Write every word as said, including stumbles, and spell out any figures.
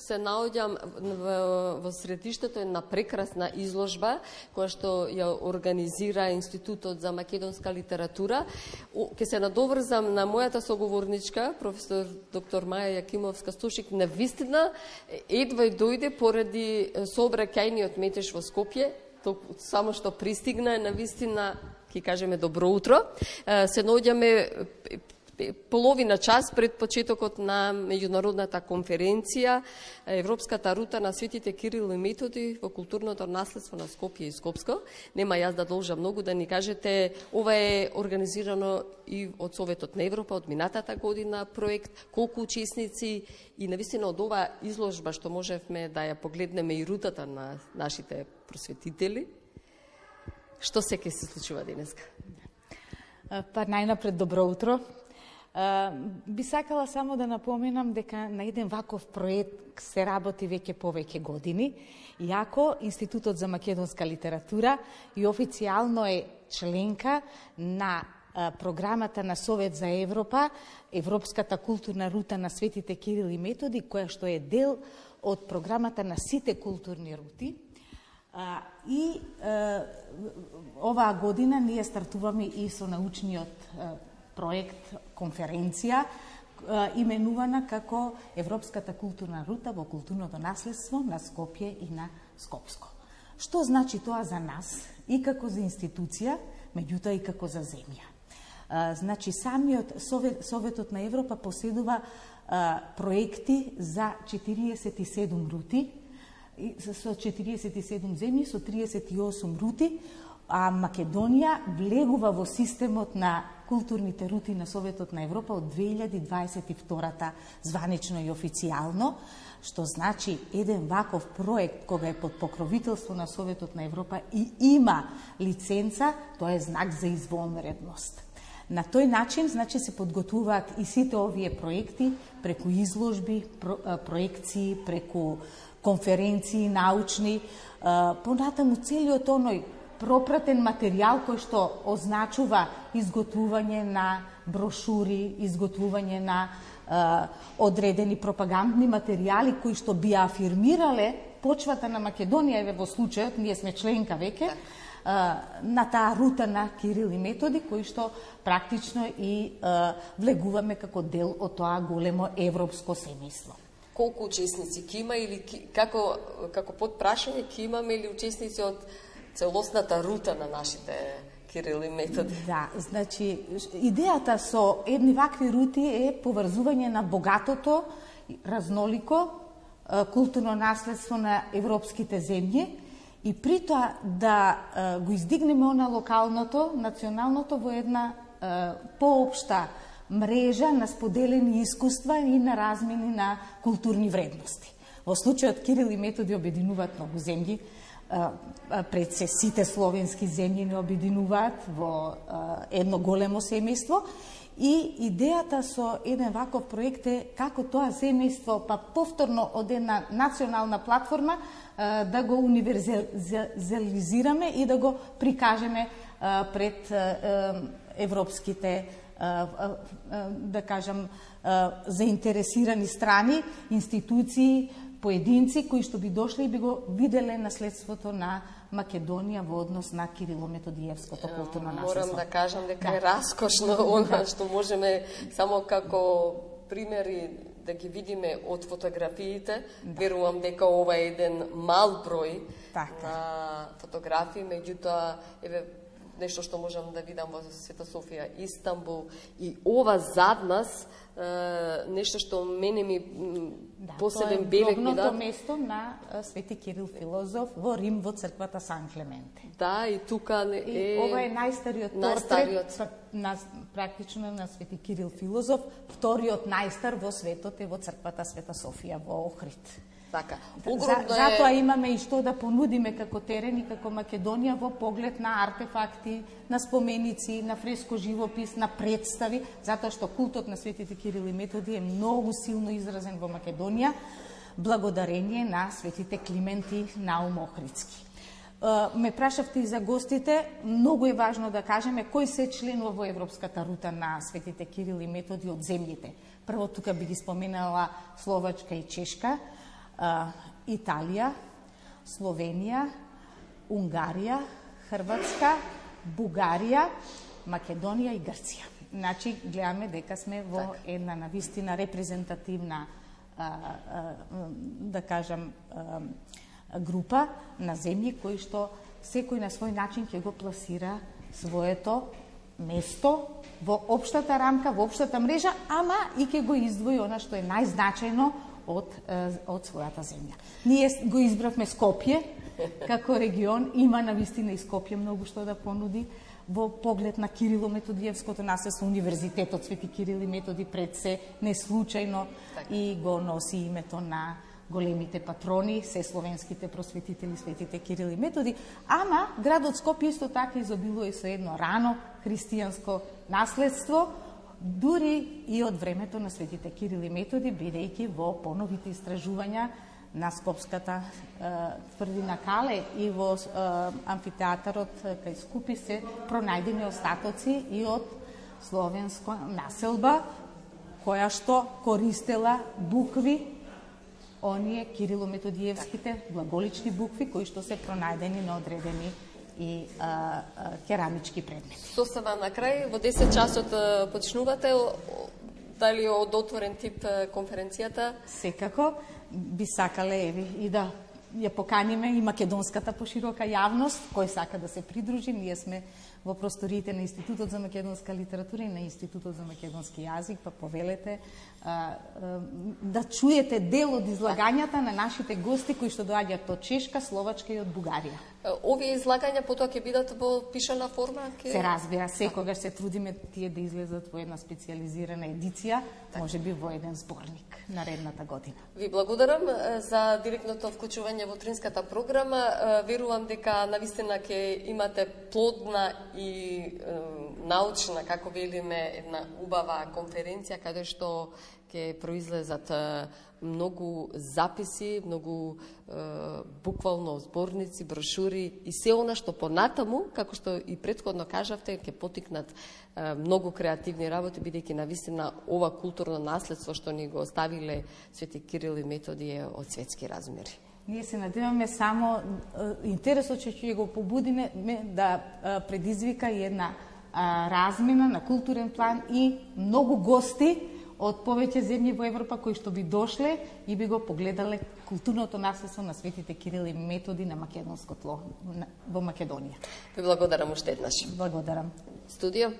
се наоѓам во, во средиштето на прекрасна изложба која што ја организира Институтот за македонска литература. Ке се надоврзам на мојата соговорничка, професор доктор Маја Јакимовска-Стошик, на вистина едва и дојде поради сообраќајниот метеж во Скопје, само што пристигна, на вистина, ќе кажеме добро утро. Се наоѓаме половина час пред почетокот на меѓународната конференција Европската рута на светите Кирил и Методи во културното наследство на Скопје и Скопско. Нема јас да должа многу да ни кажете, ова е организирано и од Советот на Европа од минатата година проект, колку учесници и навистина од оваа изложба што можевме да ја погледнеме и рутата на нашите просветители. Што се ќе се случува денеска? Па најнапред добро утро. Uh, би сакала само да напоменам дека на еден ваков проект се работи веќе повеќе години, иако Институтот за македонска литература и официјално е членка на uh, програмата на Совет за Европа, Европската културна рута на светите Кирил и Методи, која што е дел од програмата на сите културни рути. Uh, и uh, оваа година ние стартуваме и со научниот uh, проект, конференција, именувана како Европската културна рута во културното наследство на Скопје и на Скопско. Што значи тоа за нас и како за институција, меѓутоа и како за земја? Значи, самиот Совет, Советот на Европа поседува проекти за четириесет и седум рути, со четириесет и седум земји, со триесет и осум рути, а Македонија влегува во системот на културните рути на Советот на Европа од две илјади дваесет и втора званично и официјално, што значи еден ваков проект кога е под покровителство на Советот на Европа и има лиценца, тоа е знак за извонредност. На тој начин, значи, се подготвуваат и сите овие проекти преку изложби, про, проекции, преку конференции научни, понатаму целиот оној пропратен материјал кој што означува изготвување на брошури, изготвување на е, одредени пропагандни материјали кои што би афирмирале почвата на Македонија, еве во случајот, ние сме членка веќе, е, на таа рута на Кирил и Методи, кои што практично и е, влегуваме како дел од тоа големо европско семејство. Колку учесници ќе има или како, како подпрашање ќе имаме или учесници од целосната рута на нашите Кирил и Методи? Да, значи, идејата со едни вакви рути е поврзување на богатото, разнолико културно наследство на европските земји и при тоа да го издигнеме она локалното, националното во една поопшта мрежа на споделени искуства и на размени на културни вредности. Во случајот Кирил и Методи обединуваат многу земји, пред се сите словенски земји не обединуваат во едно големо семејство и идејата со еден ваков проект е како тоа семејство па повторно од една национална платформа да го универзализираме и да го прикажеме пред европските, да кажам, заинтересирани страни, институции, поединци кои што би дошли и би го виделе наследството на Македонија во однос на Кирило-Методиевското културно наследство. Морам да кажам дека е раскошно она што можеме само како примери да ги видиме од фотографиите. Да. Верувам дека ова е еден мал број така на фотографии, меѓутоа еве нешто што можам да видам во Света Софија, Истанбул и ова зад нас нешто што мене ми да, посебен белег ми да. Тоа е место на Свети Кирил Филозоф во Рим во црквата Сан Клементе. Да, и тука е и ова е најстариот портрет на практично на Свети Кирил Филозоф, вториот најстар во светот е во црквата Света Софија во Охрид. Така. За, затоа имаме и што да понудиме како терен и како Македонија во поглед на артефакти, на споменици, на фреско живопис, на представи, затоа што култот на светите Кирил и Методи е многу силно изразен во Македонија, благодарение на светите Климент и Наум Охридски. Ме прашавте и за гостите, многу е важно да кажеме кој се членува во Европската рута на светите Кирил и Методи од земјите. Прво тука би ги споменала Словачка и Чешка, Италија, Словенија, Унгарија, Хрватска, Бугарија, Македонија и Грција. Значи, гледаме дека сме во една навистина репрезентативна, да кажам, група на земји кои што секој на свој начин ќе го пласира своето место во општата рамка, во општата мрежа, ама и ќе го издвои она што е најзначајно од, од својата земја. Ние го избравме Скопје како регион, има навистина и Скопје многу што да понуди во поглед на Кирило-Методиевското наследство. Универзитетот Свети Кирил и Методи пред се не случајно и го носи името на големите патрони, се словенските просветители Светите Кирил и Методи, ама градот Скопје исто така изобилува со едно рано христијанско наследство, дури и од времето на Светите Кирил и Методи, бидејќи во поновите истражувања на Скопската е, тврдина Кале и во е, амфитеатарот кај Скупи се пронајдени остатоци и од словенска населба, која што користела букви, оние Кирило-Методиевските глаголични букви, кои што се пронајдени на одредени и а, а, керамички предмети. Сосема на крај, во десет часот почнувате, дали од отворен тип конференцијата? Секако, би сакале еви и да ја поканиме и македонската поширока јавност, кој сака да се придружи. Ние сме во просториите на Институтот за македонска литература и на Институтот за македонски јазик, па повелете а, а, да чуете дел од излагањата на нашите гости кои што доаѓаат од Чешка, Словачка и од Бугарија. Овие излагања потоа ќе бидат во пишана форма? Ке... Се разбира, секогаш се трудиме тие да излезат во една специализирана едиција, може би во еден зборник наредната година. Ви благодарам за директното вклучување во утринската програма. Верувам дека навистина ќе имате плодна и е, научна, како велиме, една убава конференција каде што ќе произлезат многу записи, многу е, буквално зборници, брошури и се она што понатаму, како што и претходно кажавте, ќе потикнат е, многу креативни работи, бидејќи навистина ова културно наследство што ни го оставиле Свети Кирил и Методи е од светски размери. Ние се надеваме само интересот че ќе го побудиме да предизвика и една размена на културен план и многу гости од повеќе земји во Европа кои што би дошле и би го погледале културното наследство на Светите Кирил и Методи на македонско тло во Македонија. Ви благодарам уште еднаш. Благодарам. Студио.